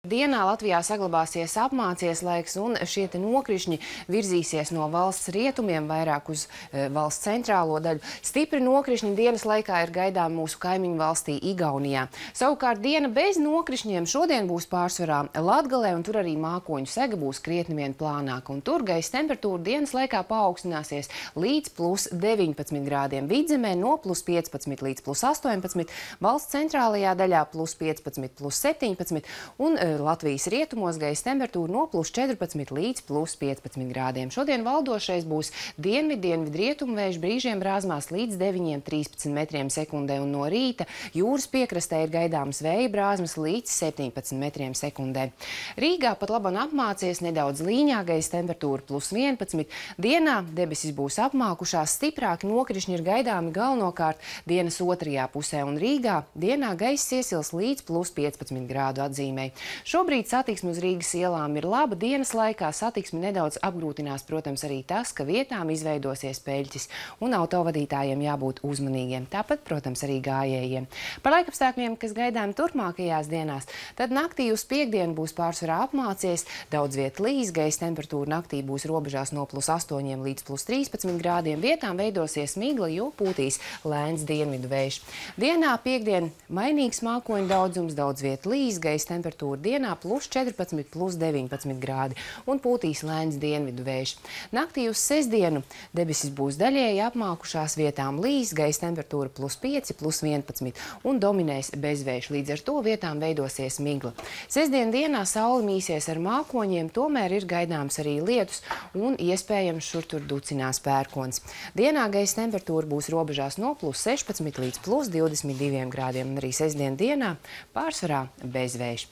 Dienā Latvijā saglabāsies apmācies laiks, un šie nokrišņi virzīsies no valsts rietumiem vairāk uz valsts centrālo daļu. Stipri nokrišņi dienas laikā ir gaidām mūsu kaimiņu valstī Igaunijā. Savukārt diena bez nokrišņiem šodien būs pārsvarā Latgalē, un tur arī mākoņu sega būs krietni vien plānāka. Un tur gaisa temperatūra dienas laikā paaugstināsies līdz +19 grādiem. Vidzemē no +15 līdz +18, valsts centrālajā daļā +15, +17 un Latvijas rietumos gaisa temperatūra no +14 līdz +15 grādiem. Šodien valdošais būs dienvidu-rietumu vējš, brīžiem brāzmās līdz 9–13 metriem sekundē, un no rīta jūras piekrastē ir gaidāmas vēja brāzmas līdz 17 metriem sekundē. Rīgā pat laban apmācies, nedaudz līņā, gaisa temperatūra +11. Dienā debesis būs apmākušās, stiprāki nokrišņi ir gaidāmi galvenokārt dienas otrajā pusē, un Rīgā dienā gaisa iesils līdz +15 grādu atzīmei. Šobrīd satiksme uz Rīgas ielām ir laba. Dienas laikā satiksmi nedaudz apgrūtinās, protams, arī tas, ka vietām izveidosies peļķis, un autovadītājiem jābūt uzmanīgiem. Tāpat, protams, arī gājējiem. Par laikapstākļiem, kas gaidām turpmākajās dienās, tad naktī uz piektdienu būs pārsvarā apmācies, daudz viet līs, gaisa temperatūra naktī būs robežās no +8 līdz +13 grādiem. Vietām veidosies migla, jo pūtīs lēns dienvidu vējš. Dienā piektdien mainīgs mākoņu daudzums, daudz viet līs, gaisa temperatūra dienā +14, +19 grādi un pūtīs lēns dienvidu vējš. Naktī uz sestdienu debesis būs daļēji apmākušās, vietām līs, gaisa temperatūra +5, +11 un dominēs bezvējš. Līdz ar to vietām veidosies migla. Sestdien dienā saule mīsies ar mākoņiem, tomēr ir gaidāms arī lietus un iespējams šur tur ducinās pērkons. Dienā gaisa temperatūra būs robežās no +16 līdz +22 grādiem, un arī sestdien dienā pārsvarā bezvējš.